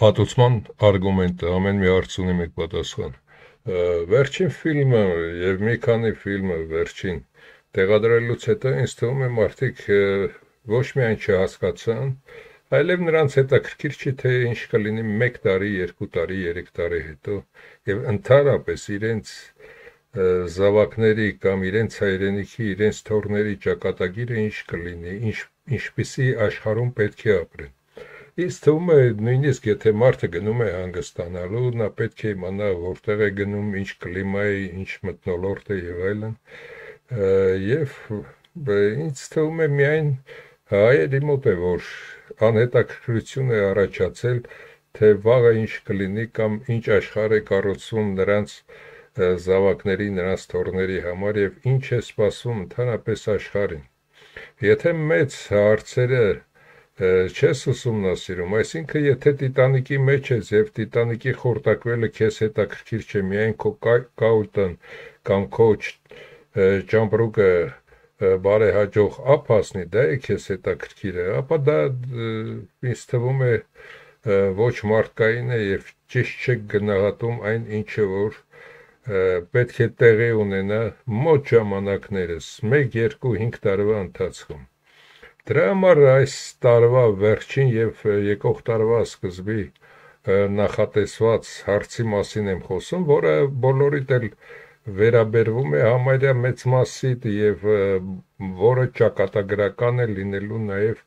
Հատուցման արգումենտը ամեն մի հարց ունի մեկ պատասխան։ Վերջին ֆիլմը եւ մի քանի ֆիլմը վերջին տեղադրելուց հետո ինձ թվում է մարդիկ ոչ միայն չհասկացան, այլև նրանց հետաքրքիր չի թե ինչ կլինի 1 տարի, 2 տարի, 3 տարի հետո եւ ընդհանրապես իրենց զավակների կամ իրենց հայրենիքի, իրենց թորների ճակատագիրը ինչ կլինի, ինչպիսի աշխարհում պետք է ապրեն։ Ինձ թվում է նույնիսկ եթե մարդը գնում է հանգստանալու, նա պետք է իմանա որտեղ է գնում, ինչ կլիմայի, ինչ մթնոլորտ է եւ այլն։ Եվ ինձ թվում է միայն հայերի մոտ է որ անհետաքրքրություն է առաջացել, թե վաղը ինչ կլինի կամ ինչ աշխարհ է կառուցվում նրանց զավակների, նրանց թորների համար եւ ինչ է սպասվում ընդհանրապես աշխարհին։ Եթե մեծ հարցերը չես ուսումնասիրում, այսինքն եթե Տիտանիկի մեջ ես եւ Տիտանիկի խորտակվելը քեզ հետաքրքիր չէ, միայն քո կաուտն կամ քո ճամպրուկը բարեհաջող ափ հասնի, դա է քեզ հետաքրքիրը, ապա դա ինձ թվում է ոչ մարդկային է եւ ճիշտ չեք գնահատում այն ինչը որ պետք է տեղի ունենա մոտ ժամանակներս 1, 2, 5 տարվա ընթացքում։ Դրա համար այս տարվա վերջին եւ եկող տարվա սկզբի նախատեսված հարցի մասին եմ խոսում, որը բոլորիդ էլ վերաբերվում է համարյա մեծ մասիդ եւ որը ճակատագրական է լինելու նաեւ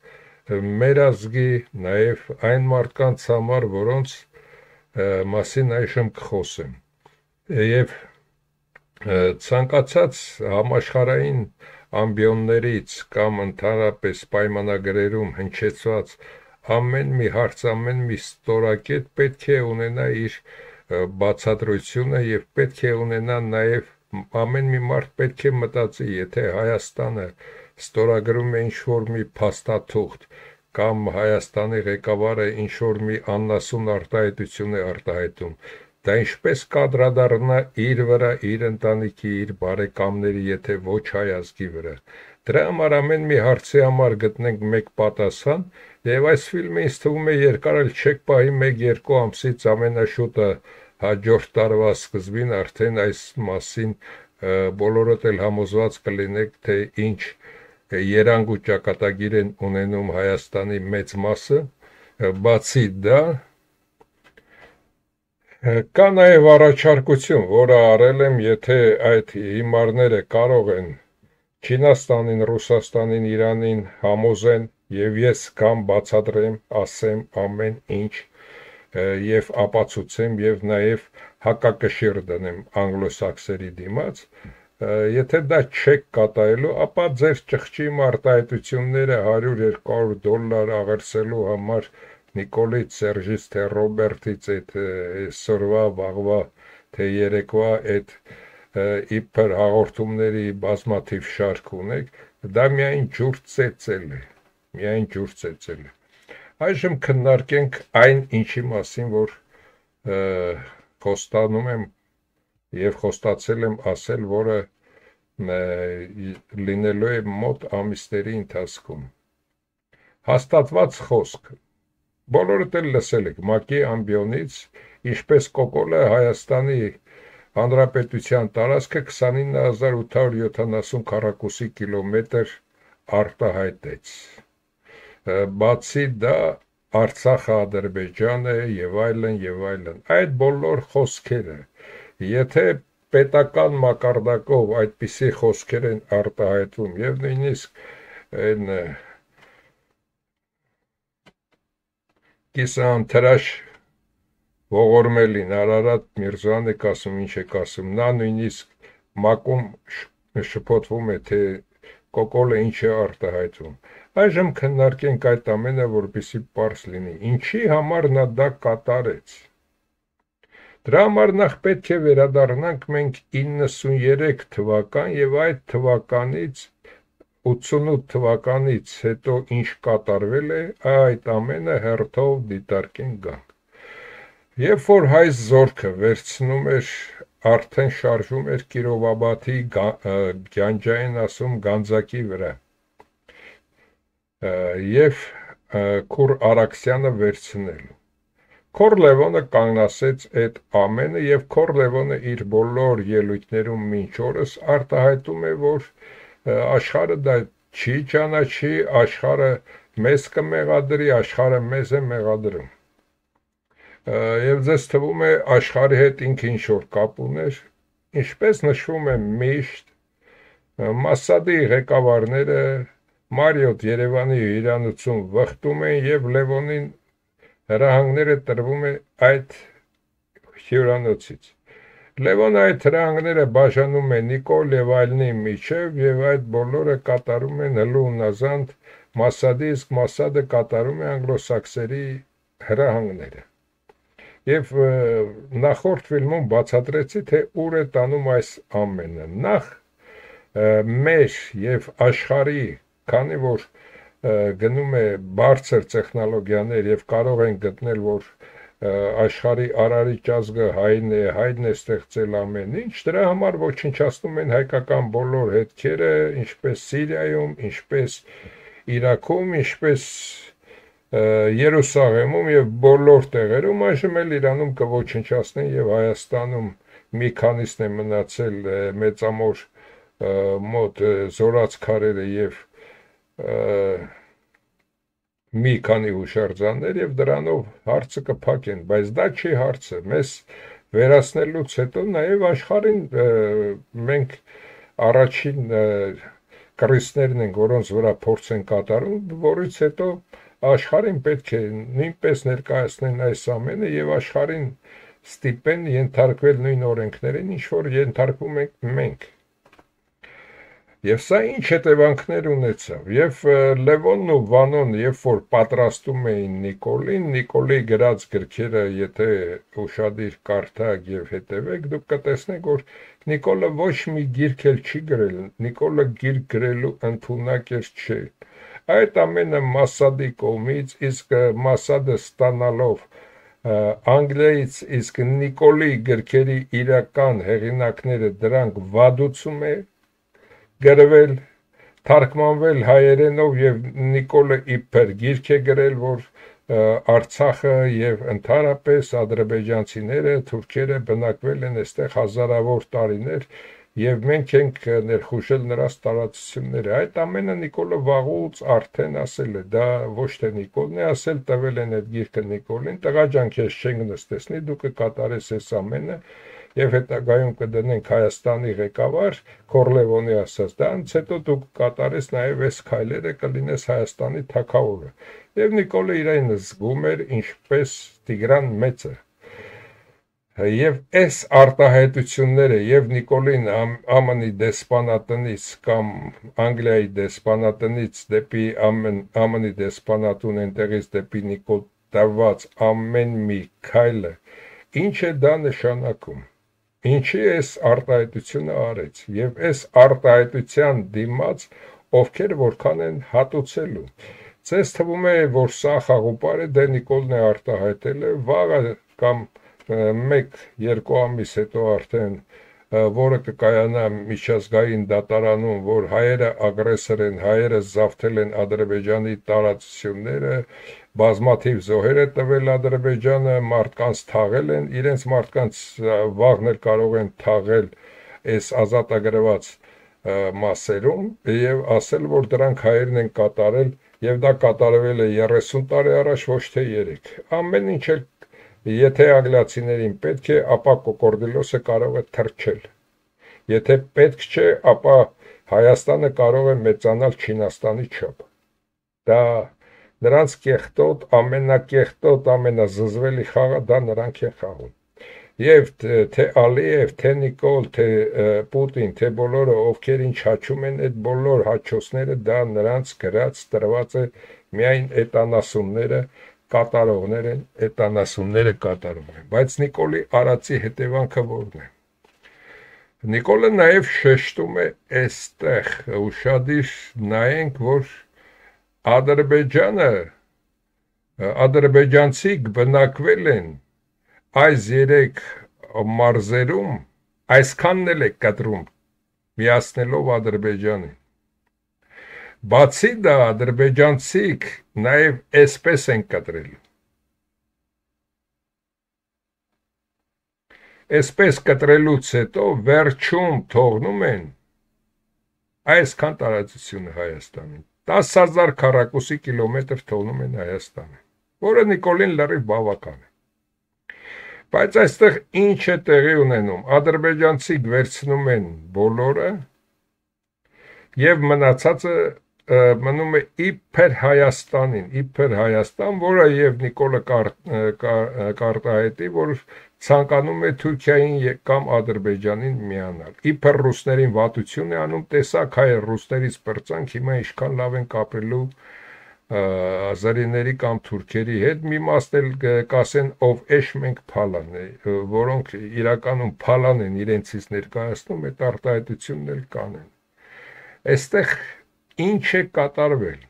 մեր ազգի, նաեւ այն մարդկանց համար, որոնց մասին այժմ կխոսեմ։ Եվ ցանկացած համաշխարհային ամբիոններից կամ ընդհանրապես պայմանագրերում հնչեցված ամեն մի հարց, ամեն մի ստորակետ պետք է ունենա իր բացատրությունը եւ պետք է ունենա նաեւ ամեն մի մարդ պետք է մտածի, եթե Հայաստանը ստորագրում է ինչ-որ մի փաստաթուղթ կամ Հայաստանի ղեկավարը ինչ-որ մի աննասուն արտահայտություն է արտահայտում, դա ինչպես կադրադառնա իր վրա, իր ընտանիքի, իր բարեկամների, եթե ոչ հայ ազգի վրա։ Դրա համար ամեն մի հարցի համար գտնենք մեկ պատասխան, եւ այս ֆիլմը ինձ թվում է երկար էլ չեք պահի 1-2 ամսից ամենաշուտը հաջորդ տարվա սկզբին արդեն այս մասին բոլորդ էլ համոզված կլինեք, թե ինչ երանգ ու ճակատագիր են ունենում Հայաստանի մեծ մասը, բացի դա կա նաև առաջարկություն, որը արել եմ, եթե այդ հիմարները կարող են Չինաստանին, Ռուսաստանին, Իրանին համոզեն եւ ես կամ բացատրեմ, ասեմ ամեն ինչ եւ ապացուցեմ եւ նաև հակակշիռ դնեմ անգլոսաքսերի դիմաց, եթե դա չեք կատարելու, ապա ձեր ճղճի արտահայտությունները $100-200 աղերսելու համար Նիկոլից, Սերժից, թե Ռոբերտից այդ այսօրվա, վաղվա, թե երեկվա այդ իբր հաղորդումների բազմաթիվ շարք ունեք, դա միայն ջուր ծեծել է, միայն ջուր ծեծել է։ Այժմ քննարկենք այն ինչի մասին, որ խոստանում եմ եւ խոստացել եմ ասել, որը լինելու է մոտ ամիսների ընթացքում։ Հաստատված խոսք։ Բոլորդ էլ լսել եք ՄԱԿ-ի ամբիոնից, ինչպես Կոկոլը Հայաստանի Հանրապետության տարածքը 29870 քառակուսի կիլոմետր արտահայտեց։ Բացի դա Արցախը, Ադրբեջանը եւ այլն եւ այլն։ Այդ բոլոր խոսքերը, եթե պետական մակարդակով այդպիսի խոսքեր են արտահայտվում եւ նույնիսկ այն կիսաընթրաշ ողորմելին Արարատ Միրզոյանը ասում ինչ է ասում, նա նույնիսկ ՄԱԿ-ում շփոթվում է, թե Կոկոլը ինչ է արտահայտվում։ Այժմ քննարկենք այդ ամենը, որպեսզի պարզ լինի, ինչի համար նա դա կատարեց։ Դրա համար նախ պետք է վերադառնանք մենք 93 թվական եւ այդ թվականից 88 թվականից հետո ինչ կատարվել է, այդ ամենը հերթով դիտարկենք գանք։ Երբ որ հայ զորքը վերցնում էր, արդեն շարժում էր Կիրովաբադի Գյանջային ասում Գանձակի վրա, եւ Քուր Արաքսյանը վերցնելու։ Քորլևոնը կանգնասեց այդ ամենը եւ Քորլևոնը իր բոլոր ելույթներում մինչ օրս արտահայտում է, որ աշխարհը դա չի ճանաչի, աշխարհը մեզ կմեղադրի, աշխարհը մեզ է մեղադրում։ Եվ ձեզ թվում է աշխարհի հետ ինքը ինչ-որ կապ ուներ, ինչպես նշվում է միշտ, Մասադի ղեկավարները Մարիոթ Երևանի հյուրանոցում վխտում են եւ Լևոնին հրահանգները տրվում է այդ հյուրանոցից։ Լևոնը այդ հրահանգները բաժանում է Նիկոլ եւ այլնի միջև եւ այդ բոլորը կատարում են հլունազանդ Մասադի, իսկ Մասադը կատարում է անգլոսաքսերի հրահանգները։ Եվ նախորդ ֆիլմում բացատրեցի, թե ուր է տանում այս ամենը։ Նախ մեր եւ աշխարհի, քանի որ գնում է բարձր տեխնոլոգիաներ եւ կարող են գտնել, որ աշխարհի արարիչ ազգը հայն է ստեղծել ամեն ինչ, դրա համար ոչնչացնում են հայկական բոլոր հետքերը, ինչպես Սիրիայում, ինչպես Իրաքում, ինչպես Երուսաղեմում եւ բոլոր տեղերում, այժմ էլ Իրանում կոչնչացնեն եւ Հայաստանում մի քանիսն է մնացել մեծամոր մոտ զորաց քարերը եւ մի քանի հուշարձաններ եւ դրանով հարցը կփակեն, բայց դա չի հարցը։ Մեզ վերացնելուց հետո նաեւ աշխարհին մենք առաջին կռիվներն են, որոնց վրա փորձ են կատարում, որից հետո աշխարհին պետք է նույնպես ներկայացնեն այս ամենը եւ աշխարհին ստիպեն ենթարկվել նույն օրենքներին, ինչ որ ենթարկվում ենք մենք։ Եվ սա ինչ հետևանքներ ունեցավ, եւ Լևոնն ու Վանոն, երբ որ պատրաստում էին Նիկոլին, Նիկոլի գրած գրքերը, եթե ուշադիր կարդաք եւ հետևեք, դուք կտեսնեք, որ Նիկոլը ոչ մի գիրք էլ չի գրել, Նիկոլը գիրք գրելու ընդունակ չէ։ Այդ ամենը Մասադի կողմից, իսկ Մասադը ստանալով Անգլիայից, իսկ Նիկոլի գրքերի իրական հեղինակները դրանք վադուցում է գրվել, թարգմանվել հայերենով եւ Նիկոլը իբր գիրք է գրել, որ Արցախը եւ ընդհանրապես ադրբեջանցիները, թուրքերը բնակվել են այստեղ հազարավոր տարիներ եւ մենք ենք ներխուժել նրանց տարածությունները։ Այդ ամենը Նիկոլը վաղուց արդեն ասել է, դա ոչ թե Նիկոլն է ասել, տվել են այդ գիրքը Նիկոլին, տղաջան քեզ չենք նստեցնի, դու կկատարես այս ամենը եւ հետագայում կդնենք Հայաստանի ղեկավար Քորլևոնի ասած, դրանից հետո դու կկատարես նաեւ այս քայլերը, կլինես Հայաստանի թագավորը։ Եվ Նիկոլը իրեն զգում էր ինչպես Տիգրան Մեծը։ Եվ այս արտահայտությունները եւ Նիկոլին ԱՄՆ-ի դեսպանատնից կամ Անգլիայի դեսպանատնից դեպի ԱՄՆ-ի դեսպանատուն այնտեղից դեպի Նիկոլ տված ամեն մի քայլը ինչ է դա նշանակում։ Ինչի այս արտահայտությունը արեց եւ այս արտահայտության դիմաց ովքեր որքան են հատուցելու։ Ձեզ թվում է, որ սա խաղուպար է, դե Նիկոլն է արտահայտել է, վաղը կամ 1-2 ամիս հետո արդեն որը կկայանա միջազգային դատարանում, որ հայերը ագրեսոր են, հայերը զավթել են Ադրբեջանի տարածությունները, բազմաթիվ զոհեր է տվել Ադրբեջանը, մարդկանց թաղել են, իրենց մարդկանց վաղն էլ կարող են թաղել այս ազատագրված մասերում եւ ասել, որ դրանք հայերն են կատարել եւ դա կատարվել է 30 տարի առաջ, ոչ թե 3։ Ամեն ինչ էլ եթե անգլիացիներին պետք է, ապա կոկորդիլոսը կարող է թռչել։ Եթե պետք չէ, ապա Հայաստանը կարող է մեծանալ Չինաստանի չափ։ Դա նրանց կեղտոտ, ամենակեղտոտ, ամենազզվելի խաղը դա նրանք են խաղում։ Եվ թե Ալիև, թե Նիկոլ, թե Պուտին, թե բոլորը ովքեր ինչ հաչում են, այդ բոլոր հաչոցները դա նրանց գրած տրված է միայն այդ անասունները կատարողներ են, այդ անասունները կատարում են, բայց Նիկոլի արածի հետևանքը որն է։ Նիկոլը նաև շեշտում է այստեղ, ուշադիր նայենք, որ ադրբեջանցիք բնակվել են այս 3 մարզերում, այսքանն էլ է կտրում, միացնելով Ադրբեջանին։ Բացի դա ադրբեջանցիք նաև այսպես են կտրել։ Այսպես կտրելուց հետո վերջում թողնում են այսքան տարածությունը Հայաստանին 10,000 քառակուսի կիլոմետր թողնում են Հայաստանին, որը Նիկոլին լրիվ բավական է։ Բայց այստեղ ինչ է տեղի ունենում, ադրբեջանցիք վերցնում են բոլորը եւ մնացածը մնում է իբր Հայաստան, որը եւ Նիկոլը կարտահայտի, որ ցանկանում է Թուրքիային կամ Ադրբեջանին միանալ։ Իբր ռուսներին վատություն է անում, տեսակ հայ ռուսներից պրծանք, հիմա ինչքան լավ են կապելու ազարիների կամ թուրքերի հետ, մի մաս էլ կասեն ով էշ մենք փալան է, որոնք իրականում փալան են իրենցից ներկայացնում, այդ արտահայտությունն էլ կանեն։ Այստեղ ինչ է կատարվել,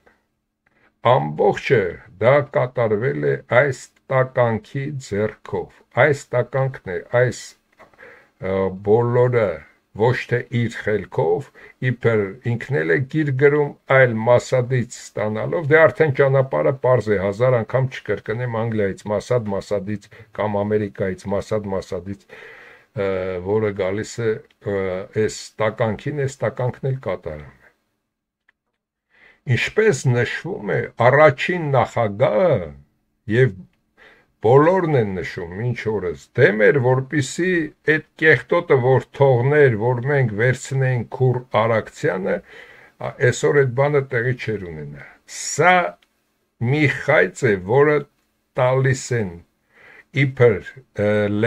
ամբողջը դա կատարվել է այս տականքի ձեռքով, այս տականքն է, այս բոլորը ոչ թե իր խելքով, իբր ինքն էլ է գիր գրում, այլ Մասադից ստանալով, դե արդեն ճանապարհը պարզ է, 1000 անգամ չկրկնեմ Անգլիայից Մասադից կամ Ամերիկայից Մասադից, որը գալիս է այս տականքին, այս տականքն էլ կատարում է։ Ինչպես նշվում է, առաջին նախագահը եւ բոլորն են նշում ինչ օրս դեմ էր, որպիսի այդ կեղտոտը որ թողներ, որ մենք վերցնենք Քուր Արաքցյանը, այսօր այդ բանը տեղի չեր ունենա։ Սա մի խայծ է, որը տալիս են իբր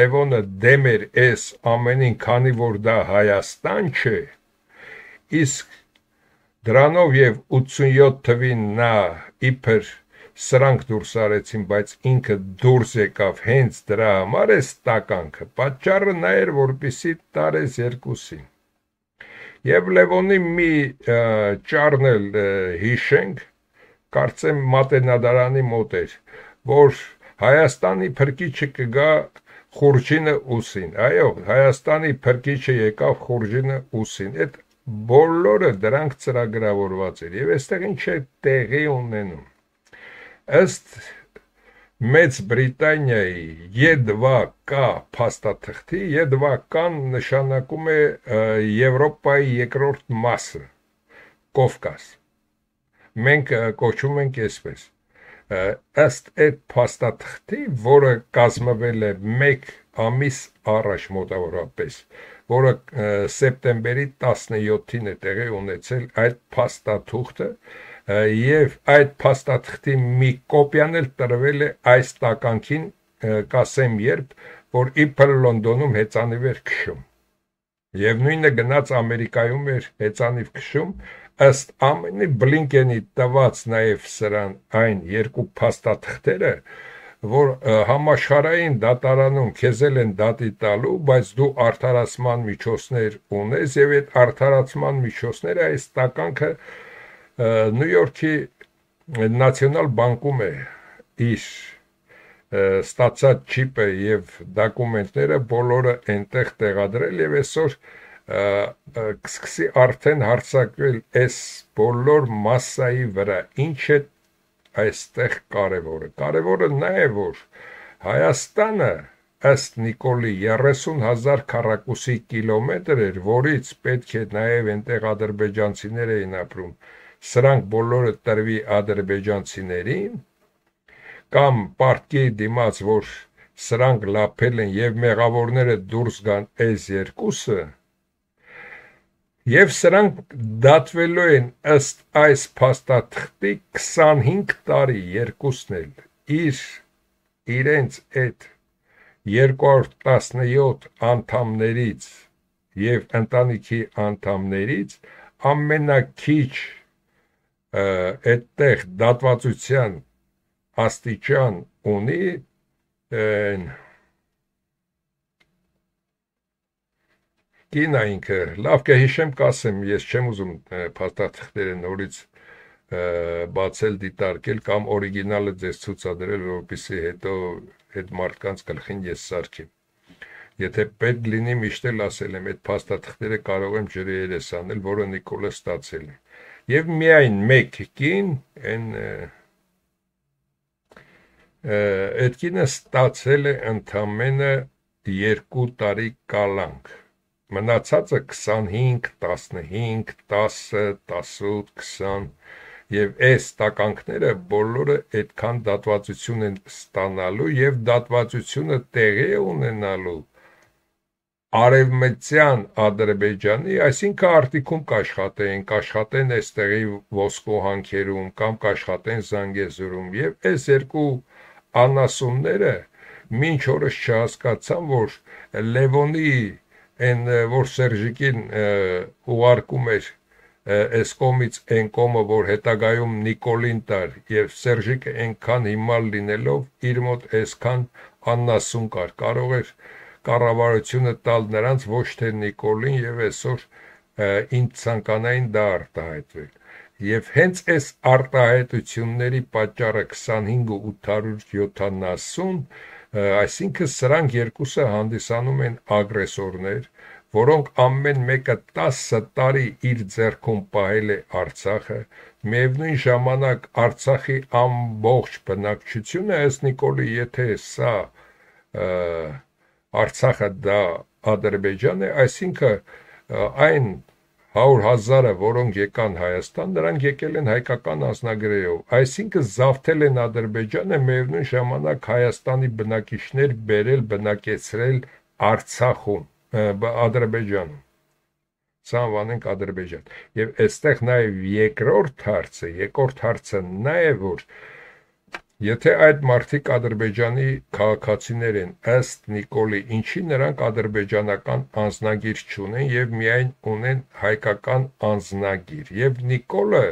Լևոնը դեմ էր այս ամենին, քանի որ դա Հայաստան չէ, իսկ դրանով եւ 87 թվին նա իբր սրանք դուրս արեցին, բայց ինքը դուրս եկավ հենց դրա համար է տականքը, պատճառը նա էր, որպիսի տարես երկուսին։ Եվ Լևոնի մի ճառնել հիշենք, կարծեմ Մատենադարանի մոտ էր, որ Հայաստանի փրկիչը կգա խուրջինը ուսին, այո, Հայաստանի փրկիչը եկավ խուրջինը ուսին, այդ բոլորը դրանք ծրագրավորված էր, եւ այստեղ ինչ է տեղի ունենում։ Ըստ Մեծ Բրիտանիայի Ե2Կ փաստաթղթի, Ե2Կ-ն նշանակում է Եվրոպայի երկրորդ մասը, Կովկաս։ Մենք կոչում ենք այսպես։ Ըստ այդ փաստաթղթի, որը կազմվել է 1 ամիս առաջ մոտավորապես, որը սեպտեմբերի 17-ին է տեղի ունեցել այդ փաստաթուղթը, եւ այդ փաստաթղթի մի կոպիան էլ տրվել է այս տականքին, կասեմ երբ, որ իբր Լոնդոնում հեծանիվ էր քշում, եւ նույնը գնաց Ամերիկայում էր հեծանիվ քշում, ըստ ամենի Բլինկենի տված նաեւ սրան այն երկու փաստաթղթերը, որ համաշխարհային դատարանում քեզ են դատի տալու, բայց դու արդարացման միջոցներ ունես, եւ այդ արդարացման միջոցները այս տականքը Նյու Յորքի Նացիոնալ բանկում է իր ստացած չիպը եւ դոկումենտները բոլորը այնտեղ տեղադրել եւ այսօր կսկսի արդեն հարցակվել այս բոլոր մասսայի վրա, ինչ է այստեղ կարևորը նա է, որ Հայաստանը ըստ Նիկոլի 30,000 քառակուսի կիլոմետր էր, որից պետք է նաև այնտեղ ադրբեջանցիներ էին ապրում, սրանք բոլորը տրվի ադրբեջանցիներին, կամ պարտքի դիմաց, որ սրանք լափել են եւ մեղավորները դուրս գան այս երկուսը, եւ սրանք դատվելու են ըստ այս փաստաթղթի 25 տարի երկուսն էլ իրենց այդ 217 անդամներից եւ ընտանիքի անդամներից ամենակիչ այդտեղ դատվածության աստիճան ունի կինա ինքը, լավ կհիշեմ կասեմ, ես չեմ ուզում փաստաթղթերը նորից բացել դիտարկել կամ օրիգինալը ձեզ ցուցադրել, որպեսզի հետո այդ մարդկանց գլխին ես սարքեմ։ Եթե պետք լինի միշտ էլ ասել եմ, այդ փաստաթղթերը կարող եմ ջրի երես անել, որը Նիկոլը ստացել է։ Եվ միայն մեկ կին, այդ կինը ստացել է ընդամենը 2 տարի կալանք, մնացածը 25, 15, 10, 18, 20 եւ այս տականքները բոլորը այդքան դատվածություն են ստանալու եւ դատվածությունը տեղի է ունենալու Արևմտյան Ադրբեջանի, այսինքն արտիքում կաշխատեն այստեղի ոսկու հանքերում կամ կաշխատեն Զանգեզուրում եւ այս երկու անասունները մինչ օրս չհասկացան, որ Լևոնի այն որ Սերժիկին ուղարկում էր այս կողմից այն կողմը, որ հետագայում Նիկոլին տար եւ Սերժիկը այնքան հիմար լինելով իր մոտ այսքան անասուն կար, կարող էր կառավարությունը տալ նրանց ոչ թե Նիկոլին եւ այսօր ինձ ցանկանային դա արտահայտվել եւ հենց այս արտահայտությունների պատճառը 25.870 այսինքն սրանք երկուսը հանդիսանում են ագրեսորներ որոնք ամեն մեկը 10 տարի իր ձեռքում պահել է Արցախը միևնույն ժամանակ Արցախի ամբողջ բնակչությունը ըստ Նիկոլի եթե սա Արցախը դա Ադրբեջան է, այսինքն այն 100,000-ը, որոնք եկան Հայաստան, նրանք եկել են հայկական անձնագրերով, այսինքն զավթել են Ադրբեջանը, միևնույն ժամանակ Հայաստանի բնակիչներ բերել, բնակեցրել Արցախում, Ադրբեջանում։ Սա անվանենք Ադրբեջան։ Եվ այստեղ նաև երկրորդ հարցը նա է, որ Եթե այդ մարդիկ Ադրբեջանի քաղաքացիներ են, ըստ Նիկոլի, ինչի նրանք ադրբեջանական անձնագիր չունեն եւ միայն ունեն հայկական անձնագիր։ Եվ Նիկոլը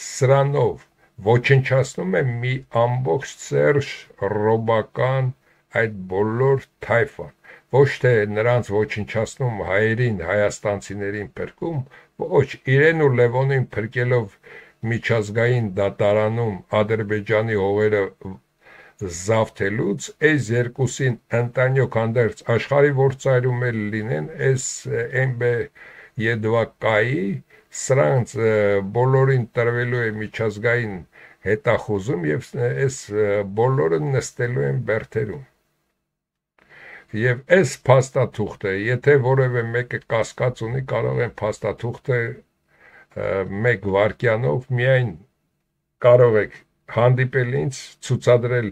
սրանով ոչնչացնում է մի ամբողջ Սերժ ռոբական այդ բոլոր թայֆան։ Ոչ թե նրանց ոչնչացնում հայերին, հայաստանցիներին փրկում, ոչ, իրեն ու Լևոնին փրկելով միջազգային դատարանում Ադրբեջանի հողերը զավթելուց այս երկուսին ընտանյոք հանդերձ աշխարհի որ ծայրում էլ լինեն այս MB Եդվակայի սրանց բոլորին տրվելու է միջազգային հետախուզում եւ այս բոլորը նստելու են բերթերում եւ այս փաստաթուղթը եթե որևէ մեկը կասկած ունի կարող են փաստաթուղթը մեկ վարքյանով միայն կարող եք հանդիպել ինձ ցուցադրել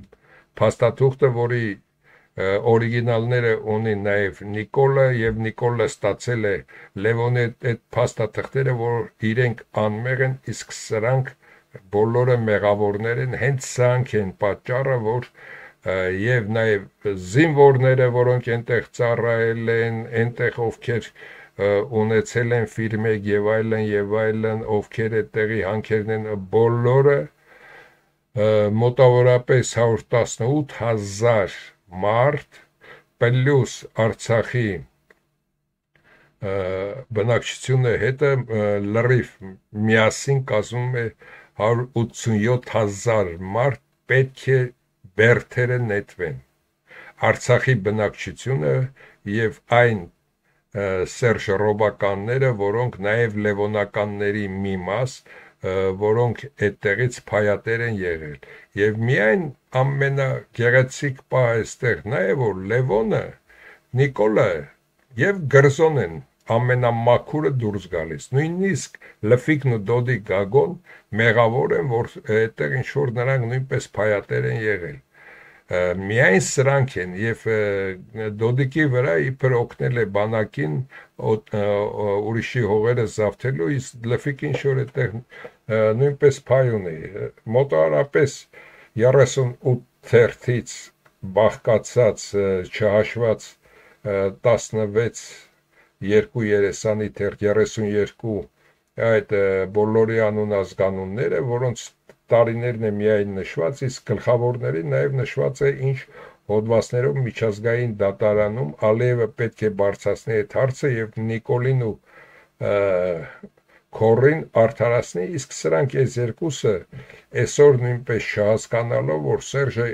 փաստաթուղթը, որի օրիգինալները ունի նաև Նիկոլը եւ Նիկոլը ստացել է Լևոնի այդ փաստաթղթերը, որ իրենք անմեղ են, իսկ սրանք բոլորը մեղավորներ են, հենց սրանք են պատճառը, որ եւ նաև զինվորները, որոնք այնտեղ ծառայել են, այնտեղ ովքեր ունեցել են ֆիրմեկ եւ այլն, ովքեր այդտեղի հանքերն են բոլորը մոտավորապես 118,000 մարդ պլյուս Արցախի բնակչությունը հետը լրիվ միասին կազմում է 187,000 մարդ պետք է բերթերը նետվեն Արցախի բնակչությունը եւ այն Սերժ ռոբականները, որոնք նաև լևոնականների մի մաս, որոնք այդտեղից փայատեր են եղել։ Եվ միայն ամենագեղեցիկ պահը այստեղ նա է, որ Լևոնը, Նիկոլը եւ Գրզոն են ամենամաքուրը դուրս գալիս։ Նույնիսկ Լֆիկն ու Դոդի Գագոն մեղավոր են, որ այդտեղ ինչ որ նրանք նույնպես փայատեր են եղել։ Միայն սրանք են եւ Դոդիկի վրա իբր օգնել է բանակին ուրիշի հողերը զավթելու իսկ Լֆիկին շոր այդտեղ նույնպես փայ ունի մոտավորապես 38 թերթից բաղկացած չհաշված 16 երկու երեսանի թերթ 32 այդ բոլորի անուն ազգանունները որոնց տարիներն է միայն նշված, իսկ գլխավորների նաև նշված է ինչ հոդվածներով միջազգային դատարանում Ալիևը պետք է բարձրացնի այդ հարցը եւ Նիկոլին ու Քորին արդարացնի, իսկ սրանք այս երկուսը այսօր նույնպես չհասկանալով, որ Սերժը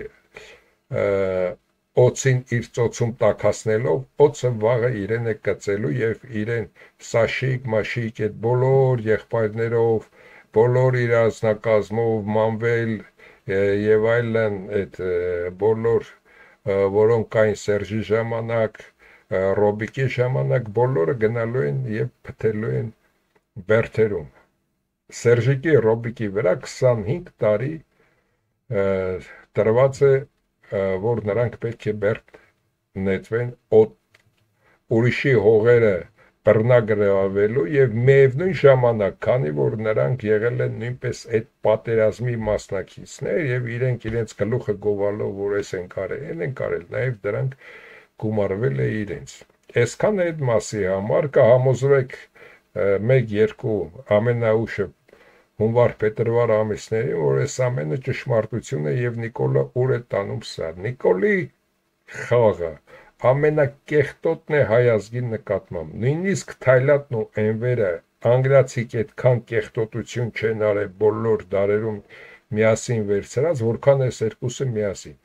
օծին իր ծոցում տաքացնելով օծը վաղը իրեն է կծելու եւ իրեն Սաշիկ, Մաշիկ այդ բոլոր եղբայրներով բոլոր իր ազնագազմով մանվել եւ այլն այդ բոլոր որոնք կային Սերժի ժամանակ, Ռոբիկի ժամանակ, բոլորը գնալու են եւ փթելու են բերթերում։ Սերժիկի Ռոբիկի վրա 25 տարի տրված է, որ նրանք պետք է բերդ նետվեն ուրիշի հողերը բռնագրավելու եւ միևնույն ժամանակ, քանի որ նրանք եղել են նույնպես այդ պատերազմի մասնակիցներ եւ իրենց գլուխը գովալով, որ էս են կարել, նաեւ դրանք գումարվել է իրենց։ Այսքան այդ մասի համար կհամոզվեք 1-2 ամենաուշը հունվար-փետրվար ամիսներին, որ այս ամենը ճշմարտություն է եւ Նիկոլը ուր է տանում սա։ Նիկոլի խաղը ամենակեղտոտն է հայ ազգի նկատմամբ, նույնիսկ Թայլատն ու Էնվերը անգլիացիք այդքան կեղտոտություն չեն արել բոլոր դարերում միասին վերցրած, որքան այս երկուսը միասին։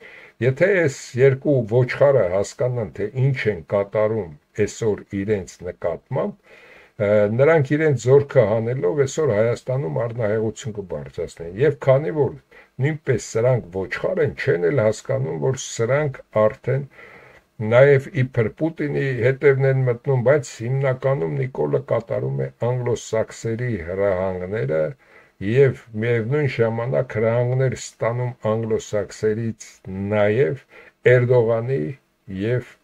Եթե այս երկու ոչխարը հասկանան, թե ինչ են կատարում այսօր իրենց նկատմամբ, նրանք իրենց զորքը հանելով այսօր Հայաստանում առնահեղություն կբարձրացնեն։ Եվ քանի որ նույնպես սրանք ոչխար են, չեն էլ հասկանում, որ սրանք արդեն նաև իբր Պուտինի հետևն են մտնում, բայց հիմնականում Նիկոլը կատարում է անգլոսաքսերի հրահանգները եւ միևնույն ժամանակ հրահանգներ ստանում անգլոսաքսերից նաև Էրդողանի եւ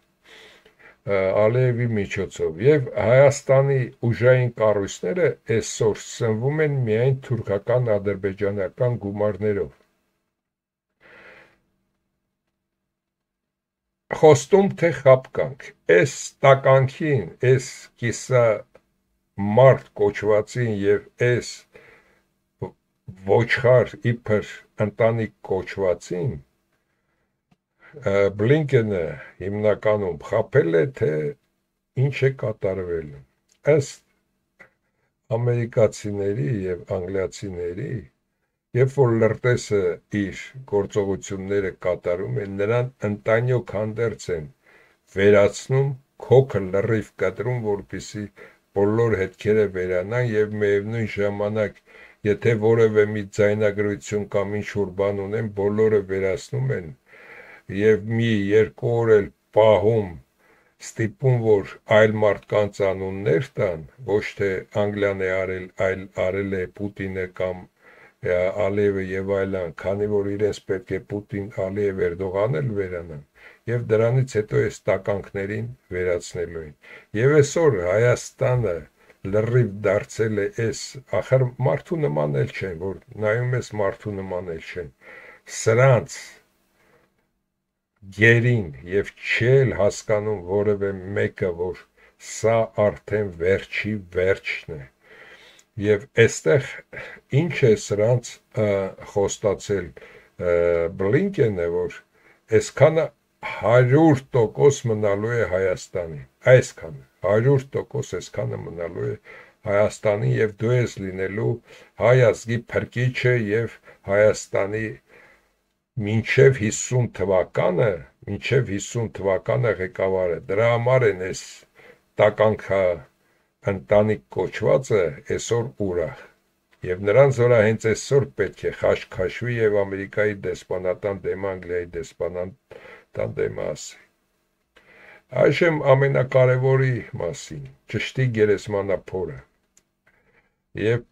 Ալիևի միջոցով եւ Հայաստանի ուժային կառույցները այսօր սնվում են միայն թուրքական ադրբեջանական գումարներով։ Խոստում թե խապկանք, այս տականքին, այս կիսա մարդ կոչվածին եւ այս ոչխար իբր ընտանիք կոչվածին Բլինկենը հիմնականում խապել է, թե ինչ է կատարվել։ Ըստ ամերիկացիների եւ անգլիացիների, երբ որ լրտեսը իր գործողությունները կատարում է, նրան ընտանյոք հանդերձ են վերացնում, քոքը լրիվ կտրում, որպեսզի բոլոր հետքերը վերանան եւ միևնույն ժամանակ, եթե որևէ մի ձայնագրություն կամ ինչ-որ բան ունեն, բոլորը վերացնում են եւ մի 2 օր էլ պահում ստիպում, որ այլ մարդկանց անուններ տան, ոչ թե Անգլիան է արել, այլ արել է Պուտինը կամ Ալիևը եւ այլն, քանի որ իրենց պետք է Պուտին, Ալիև, Էրդողան էլ վերանան, եւ դրանից հետո այս տականքներին վերացնելու են։ Եվ այսօր Հայաստանը լրիվ դարձել է այս, ախր մարդու նման էլ չեն, որ նայում ես մարդու նման էլ չեն, սրանց գերին եւ չել հասկանում որևէ մեկը, որ սա արդեն վերջի վերջն է։ Եվ այստեղ ինչ է սրանց խոստացել Բլինկենը, որ այսքանը 100% մնալու է Հայաստանի, այսքանը 100% այսքանը մնալու է Հայաստանի եւ դու ես լինելու հայ ազգի փրկիչը եւ Հայաստանի մինչև 50 թվականը ղեկավարը, դրա համար են այս տականքա ընտանիք կոչվածը այսօր ուրախ, եւ նրանց վրա հենց այսօր պետք է խաշ-խաշվի եւ Ամերիկայի դեսպանատան դեմ Անգլիայի դեսպանատան դեմ ասի։ Այժմ ամենակարևորի մասին, ճշտի գերեզմանափորը, եւ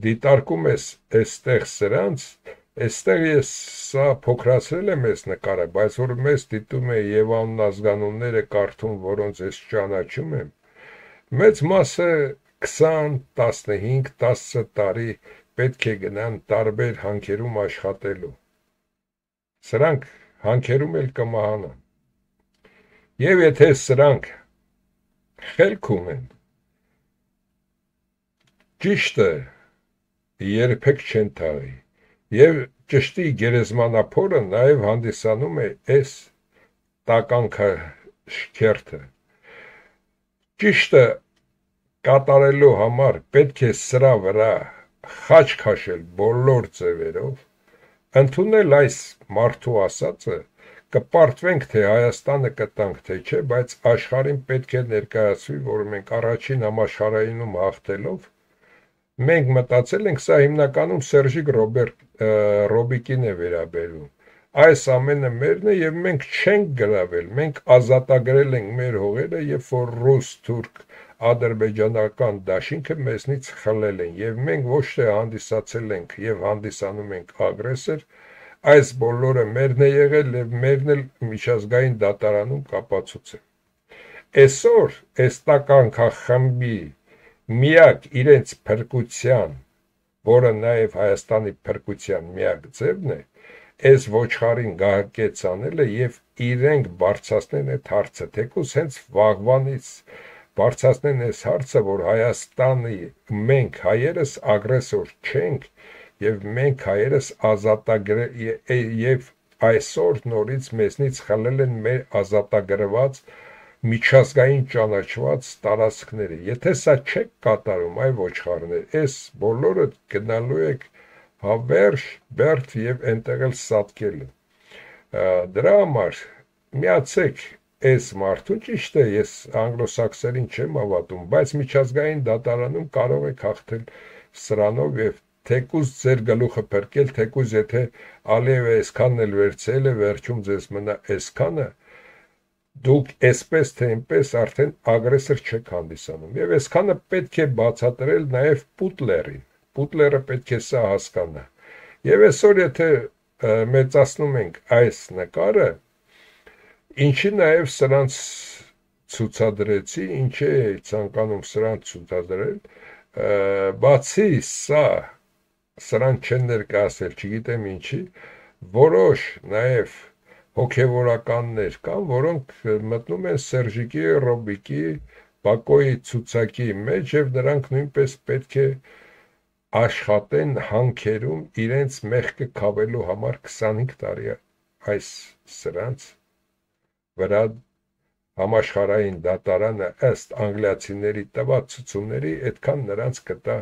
դիտարկում ես այստեղ սրանց, այստեղ ես սա փոքրացրել եմ այս նկարը, բայց որ մեզ դիտում է եւ անազգանունները կարդում, որոնց ես ճանաչում եմ, մեծ մասը 20, 15, 10 տարի պետք է գնան տարբեր հանքերում աշխատելու։ Սրանք հանքերում էլ կմահանան։ Եվ եթե սրանք խելք ունեն, ճիշտը երբեք չեն թաղի։ Եվ ճշտի գերեզմանափորը նաև հանդիսանում է այս տականքաշքերթը։ Ճիշտը կատարելու համար պետք է սրա վրա խաչ քաշել բոլոր ձևերով, ընդունել այս մարդու ասածը, կպարտվենք, թե Հայաստանը կտանք, թե չէ, բայց աշխարհին պետք է ներկայացվի, որ մենք առաջին համաշխարհայինում հաղթելով մենք մտածել ենք, սա հիմնականում Սերժիկ Ռոբիկին է վերաբերում, այս ամենը մերն է եւ մենք չենք գրավել, մենք ազատագրել ենք մեր հողերը, երբ որ ռուս, թուրք, ադրբեջանական դաշինքը մեզնից խլել են եւ մենք ոչ թե հանդիսացել ենք եւ հանդիսանում ենք ագրեսոր, այս բոլորը մերն է եղել եւ մերն էլ միջազգային դատարանում կապացուցել։ Այսօր էստական խմբի միակ իրենց փրկության, որը նաեւ Հայաստանի փրկության միակ ձևն է, այս ոչխարին գահակեց անելը եւ իրենք բարձրացնեն այդ հարցը, թեկուզ հենց վաղվանից բարձրացնեն այս հարցը, որ Հայաստանի մենք հայերս ագրեսոր չենք եւ մենք հայերս եւ այսօր նորից մեզնից խլել են մեր ազատագրված միջազգային ճանաչված տարածքները։ Եթե սա չեք կատարում, այ ոչխարներ, այս բոլորը գնալու եք հավերժ, բերդ եւ այնտեղ էլ սատկել։ Դրա համար միացեք այս մարդուն, ճիշտ է, ես անգլոսաքսերին չեմ հավատում, բայց միջազգային դատարանում կարող եք հաղթել սրանով եւ թեկուզ ձեր գլուխը փրկել, թեկուզ եթե Ալիևը այսքանն էլ վերցել է, վերջում ձեզ մնա այսքանը, դուք այսպես թե այնպես արդեն ագրեսոր չեք հանդիսանում եւ այսքանը պետք է բացատրել նաեւ Պուտլերին։ Պուտլերը պետք է սա հասկանա։ Եվ այսօր եթե մեծացնում ենք այս նկարը, ինչի նաև սրանց ցուցադրեցի, ինչ է ցանկանում սրանց ցուցադրել, բացի սա, սրան չեն ներկայացել, չգիտեմ ինչի, որոշ նաև հոգևորականներ կան, որոնք մտնում են Սերժիկի, Ռոբիկի, Բակոյի ցուցակի մեջ եւ նրանք նույնպես պետք է աշխատեն հանքերում իրենց մեղքը քավելու համար 25 տարի այս սրանց վրա համաշխարհային դատարանը ըստ անգլիացիների տված ցուցումների այդքան նրանց կտա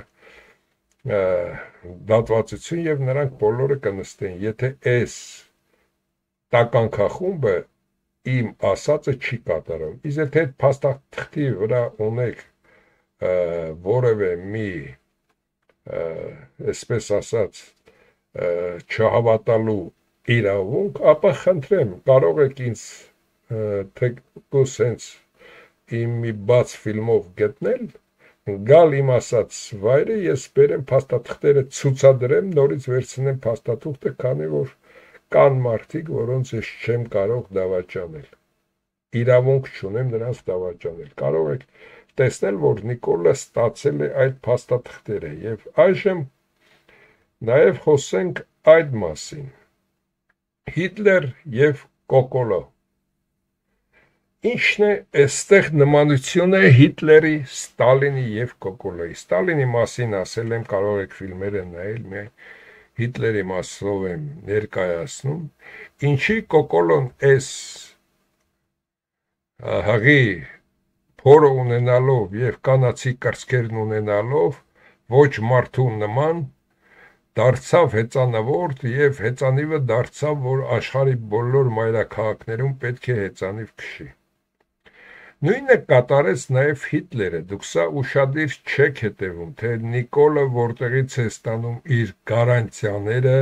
դատվածություն եւ նրանք բոլորը կնստեն, եթե այս տականքախումբը իմ ասածը չի կատարում։ Իսկ եթե այդ փաստաթղթի վրա ունեք որևէ մի այսպես ասած չհավատալու իրավունք, ապա խնդրեմ, կարող եք ինձ թեկուզ հենց իմ մի բաց ֆիլմով գտնել, գալ իմ ասած վայրը, ես բերեմ փաստաթղթերը ցուցադրեմ, նորից վերցնեմ փաստաթուղթը, քանի որ կան մարդիկ, որոնց ես չեմ կարող դավաճանել, իրավունք չունեմ նրանց դավաճանել, կարող եք տեսնել, որ Նիկոլը ստացել է այդ փաստաթղթերը եւ այժմ նաեւ խոսենք այդ մասին։ Հիտլեր եւ Կոկոլո։ Ինչն է այստեղ նմանությունը Հիտլերի, Ստալինի եւ Կոկոլոյի։ Ստալինի մասին ասել եմ, կարող եք ֆիլմերը նայել, միայն Հիտլերի մասով եմ ներկայացնում, ինչի Կոկոլոն այս հղի փորը ունենալով եւ կանացի կրծքերն ունենալով ոչ մարդու նման դարձավ հեծանվորդ եւ հեծանիվը դարձավ, որ աշխարհի բոլոր մայրաքաղաքներում պետք է հեծանիվ քշի։ Նույնը կատարեց նաև Հիտլերը, դուք սա ուշադիր չեք հետևում, թե Նիկոլը որտեղից է ստանում իր գարանտիաները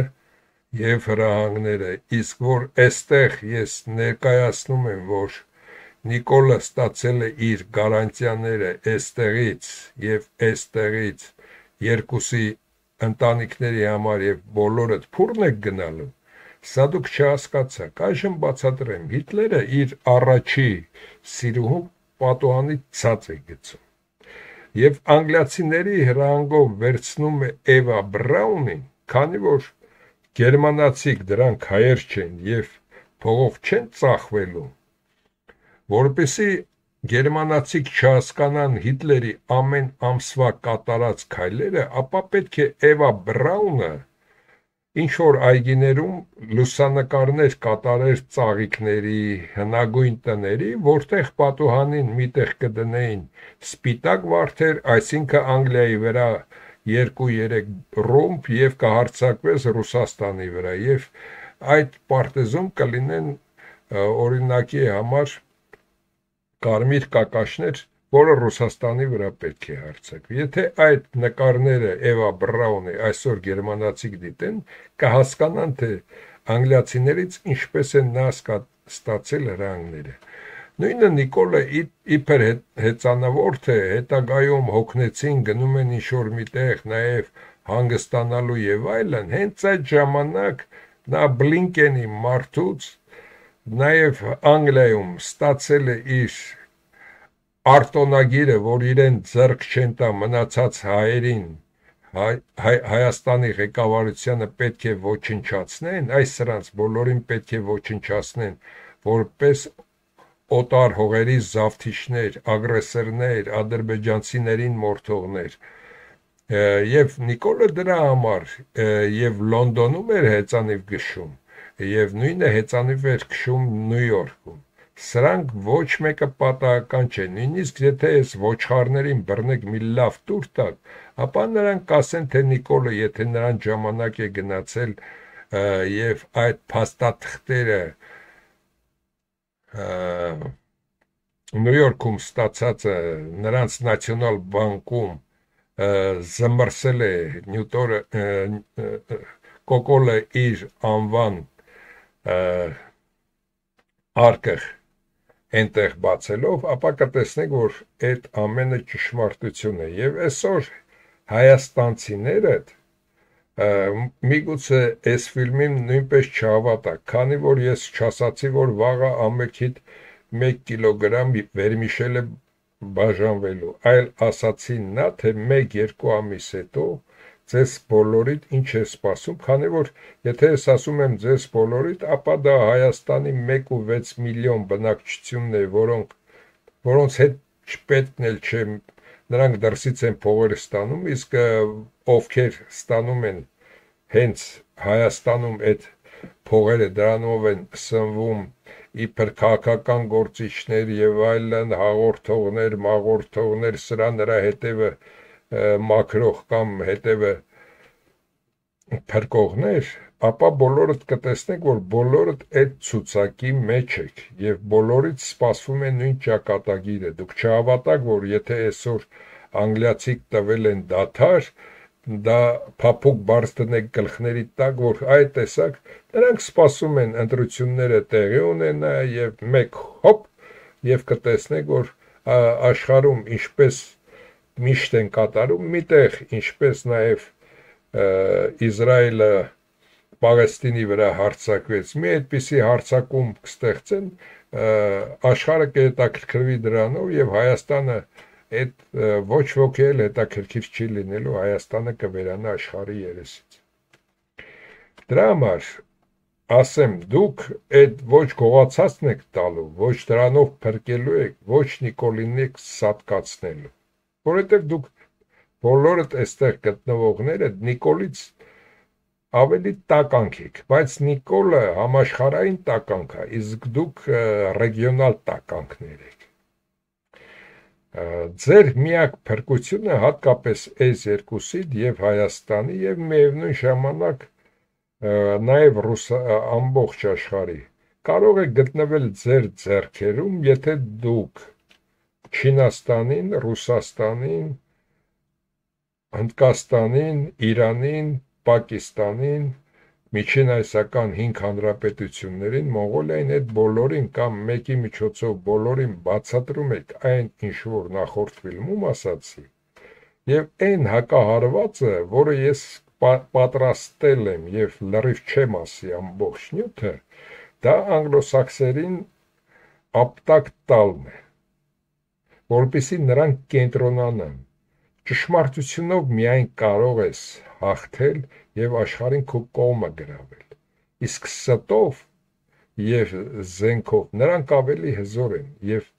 եւ հրահանգները, իսկ որ այստեղ ես ներկայացնում եմ, որ Նիկոլը ստացել է իր գարանտիաները այստեղից եւ այստեղից երկուսի ընտանիքների համար եւ բոլորը փուրն է գնալու, սա դուք չհասկացաք, այժմ բացատրեմ, Հիտլերը իր առաջի սիրուհու պատուհանի ցած է գցում եւ անգլիացիների հրահանգով վերցնում է Էվա Բրաունին, քանի որ գերմանացիք դրանք հայեր չեն եւ փողով չեն ծախվելու, որպեսի գերմանացիք չհասկանան Հիտլերի ամեն ամսվա կատարած քայլերը, ապա պետք է Էվա Բրաունը ինչ որ այգիներում լուսանկարներ կատարեր ծաղիկների, հնագույն տների, որտեղ պատուհանին միտեղ կդնեին սպիտակ վարդեր, այսինքն Անգլիայի վրա 2-3 ռումբ եւ կհարձակվես Ռուսաստանի վրա եւ այդ պարտեզում կլինեն օրինակի համար կարմիր կակաշներ, որը Ռուսաստանի վրա պետք է հարձակվի։ Եթե այդ նկարները Էվա Բրաունի այսօր գերմանացիք դիտեն, կհասկանան, թե անգլիացիներից ինչպես են նա ստացել հրանգները։ Նույնը Նիկոլը իբր հեծանվորդ է, հետագայում հոգնեցին, գնում են ինչ-որ միտեղ, նաև հանգստանալու եւ այլն, հենց այդ ժամանակ նա Բլինկենի մարդուց նաև Անգլիայում ստացել է իր արտոնագիրը, որ իրեն ձեռք չեն տա մնացած հայերին, Հայաստանի ղեկավարությանը պետք է ոչնչացնեն, այս սրանց բոլորին պետք է ոչնչացնեն, որպես օտար հողերի զավթիչներ, ագրեսորներ, ադրբեջանցիներին մորթողներ։ Եվ Նիկոլը դրա համար եւ Լոնդոնում էր հեծանիվ գշում, եւ նույնը հեծանիվ էր քշում Նյու Յորքում։ Սրանք ոչ մեկը պատահական չէ, նույնիսկ եթե այս ոչխարներին բռնեք մի լավ տուր տակ, ապա նրանք կասեն, թե Նիկոլը, եթե նրան ժամանակ է գնացել եւ այդ փաստաթղթերը Նյու Յորքում ստացածը նրանց նացիոնալ բանկում զմրսել է Նյուտորը Կոկոլը իր անվան արկղ այնտեղ բացելով, ապա կտեսնեք, որ այդ ամենը ճշմարտություն է։ Եվ այսօր հայաստանցիները միգուցե այս ֆիլմին նույնպես չհավատա, քանի որ ես չասացի, որ վաղը ամենքիդ 1 կիլոգրամ վերմիշել է բաժանվելու, այլ ասացի նա, թե 1-2 ամիս հետո ձեզ բոլորիդ ինչ է սպասում, քանի որ եթե ես ասում եմ ձեզ բոլորիդ, ապա դա Հայաստանի 1.6 միլիոն բնակչությունն է, որոնց հետ չպետքն էլ չէ, նրանք դրսից են փողերը ստանում, իսկ ովքեր ստանում են հենց Հայաստանում այդ փողերը դրանով են սնվում իբր քաղաքական գործիչներ եւ այլն, հաղորդողներ, մաղորդողներ, սրա նրա հետևը մաքրող կամ հետևը փրկողներ, ապա բոլորդ կտեսնեք, որ բոլորդ այդ ցուցակի մեջ եք եւ բոլորից սպասվում է նույն ճակատագիրը։ Դուք չհավատաք, որ եթե այսօր անգլիացիք տվել են դաթար, դա փափուկ բարձ դնեք գլխների տակ, որ այդ տեսակ նրանք սպասում են ընտրությունները տեղի ունենա եւ մեկ հոպ եւ կտեսնեք, որ աշխարհում ինչպես միշտ են կատարում, միտեղ ինչպես նաև Իսրայելը Պաղեստինի վրա հարձակվեց, մի այդպիսի հարձակում կստեղծեն, աշխարհը կհետաքրքրվի դրանով եւ Հայաստանը այդ ոչ ոքի էլ հետաքրքիր չի լինելու, Հայաստանը կվերանա աշխարհի երեսից։ Դրա համար ասեմ, դուք այդ ոչ գողացածն եք տալու, ոչ դրանով փրկելու եք, ոչ Նիկոլին եք սատկացնելու, որովհետև դուք բոլորդ այստեղ գտնվողները Նիկոլից ավելի տականք եք, բայց Նիկոլը համաշխարհային տականք է, իսկ դուք ռեգիոնալ տականքներ եք։ Ձեր միակ փրկությունը հատկապես այս երկուսիդ եւ Հայաստանի եւ միևնույն ժամանակ նաև ամբողջ աշխարհի կարող է գտնվել ձեր ձեռքերում, եթե դուք Չինաստանին, Ռուսաստանին, Հնդկաստանին, Իրանին, Պակիստանին, Միջին Ասիական 5 հանրապետություններին, Մոնղոլիային այդ բոլորին կամ մեկի միջոցով բոլորին բացատրում եք այն ինչ որ նախորդ ֆիլմում ասացի, եւ այն հակահարվածը, որը ես պատրաստել եմ եւ լրիվ չեմ ասի ամբողջ նյութը, դա անգլոսաքսերին ապտակ տալն է, որպեսզի նրանք կենտրոնանան։ Ճշմարտությունով միայն կարող ես հաղթել եւ աշխարհին քո կողմը գրավել։ Իսկ ստով եւ զենքով նրանք ավելի հզոր են եւ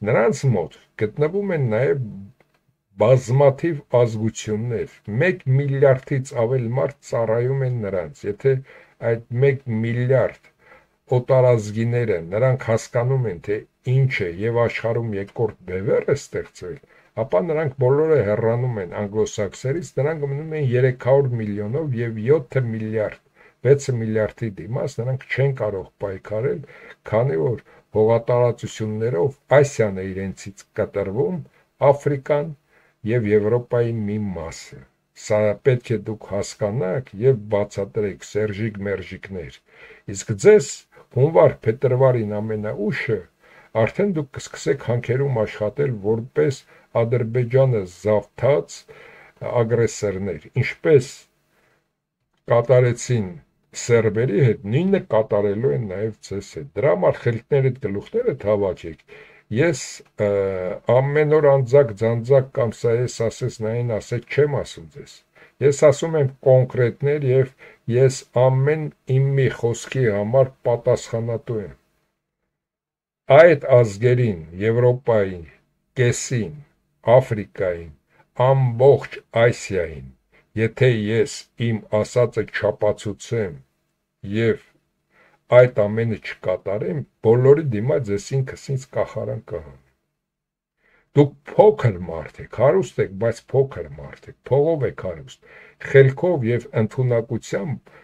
նրանց մոտ գտնվում են նաեւ բազմաթիվ ազգություններ, 1 միլիարդից ավել մարդ ծառայում են նրանց։ Եթե այդ 1 միլիարդ օտարազգիները նրանք հասկանում են, թե ինչ է եւ աշխարհում երկրորդ բևեռ է ստեղծվել, ապա նրանք բոլորը հեռանում են անգլոսաքսերից, նրանք մնում են 300 միլիոնով եւ 7 միլիարդ, 6 միլիարդի դիմաց նրանք չեն կարող պայքարել, քանի որ հողատարածություններով Ասիան է իրենցից կտրվում, Աֆրիկան եւ Եվրոպայի մի մասը։ Սա պետք է դուք հասկանաք եւ բացատրեք Սերժիկ մերժիկներ։ Իսկ ձեզ հունվար-փետրվարին ամենաուշը արդեն դուք կսկսեք հանքերում աշխատել որպես Ադրբեջանը զավթած ագրեսորներ, ինչպես կատարեցին սերբերի հետ, նույնը կատարելու են նաև ձեզ հետ։ Դրա համար խելքներդ գլուխներդ հավաքեք։ Ես ամեն օր անձակ-ձանձակ կամ սա ես ասես նային ասեք չեմ ասում ձեզ։ Ես ասում եմ կոնկրետներ եւ ես ամեն իմ մի խոսքի համար պատասխանատու եմ։ Այդ ազգերին, Եվրոպային, կեսին, Աֆրիկային, ամբողջ Ասիային, եթե ես իմ ասածը չապացուցեմ եւ այդ ամենը չկատարեմ, բոլորի դիմաց ես ինքս կախարան կհանեմ։ Դուք փոքր մարդ եք, հարուստ եք, բայց փոքր մարդ եք, փողով եք հարուստ, խելքով եւ ընդունակությամբ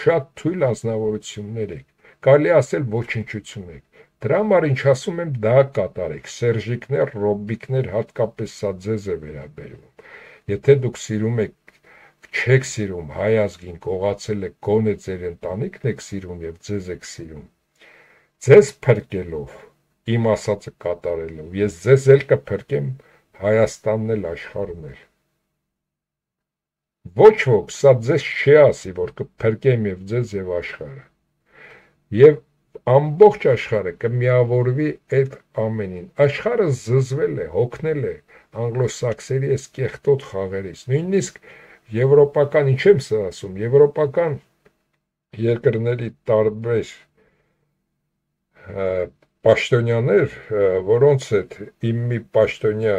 շատ թույլ անձնավորություններ եք, կարելի ասել ոչնչություն եք։ Դրա համար ինչ ասում եմ, դա կատարեք, Սերժիկներ, Ռոբիկներ, հատկապես սա ձեզ է վերաբերվում։ Եթե դուք սիրում եք, չեք սիրում հայ ազգին, կողացել եք, գոնե ձեր ընտանիքն եք սիրում եւ ձեզ եք սիրում, ձեզ փրկելով, իմ ասածը կատարելով, ես ձեզ էլ կփրկեմ, Հայաստանն էլ, աշխարհն էլ։ Ոչ ոք սա ձեզ չի ասի, որ կփրկեմ եւ ձեզ եւ աշխարհը։ Եվ ամբողջ աշխարհը կմիավորվի այդ ամենին։ Աշխարհը զզվել է, հոգնել է անգլոսաքսերի այս կեղտոտ խաղերից։ Նույնիսկ եվրոպական, ինչ եմ սա ասում, եվրոպական երկրների տարբեր պաշտոնյաներ, որոնց հետ իմ մի պաշտոնյա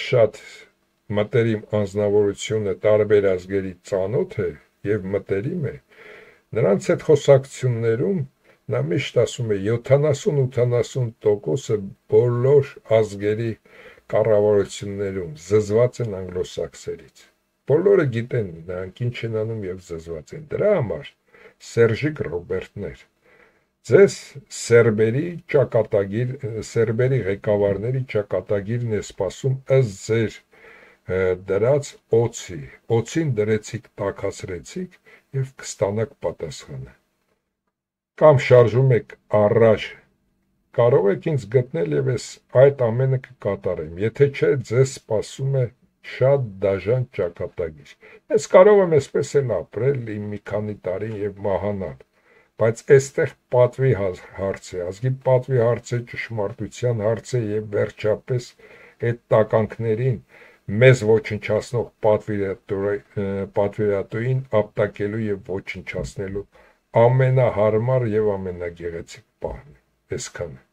շատ մտերիմ անձնավորությունը տարբեր ազգերի ծանոթ է եւ մտերիմ է, նրանց հետ խոսակցություններում նա միշտ ասում է 70-80% բոլոր ազգերի կառավարություններում զզված են անգլոսաքսերից։ Բոլորը գիտեն նրանք ինչ են անում եւ զզված են։ Դրա համար Սերժիկ Ռոբերտներ, ձեզ սերբերի ճակատագիր, սերբերի ղեկավարների ճակատագիրն է սպասում ըստ ձեր դրած օծի, օծին դրեցիք, տաքացրեցիք եւ կստանաք պատասխանը։ Կամ շարժում եք առաջ, կարող եք ինձ գտնել եւ ես այդ ամենը կկատարեմ, եթե չէ ձեզ սպասում է շատ դաժան ճակատագիր։ Ես կարող եմ այսպես էլ ապրել իմ մի քանի տարի եւ մահանալ, բայց այստեղ պատվի հարց է, ազգի պատվի հարց է, ճշմարտության հարց է եւ վերջապես այդ տականքներին մեզ ոչնչացնող պատվիրատուին ապտակելու եւ ոչնչացնելու ամենահարմար եւ ամենագեղեցիկ պահն է։ Այսքանը։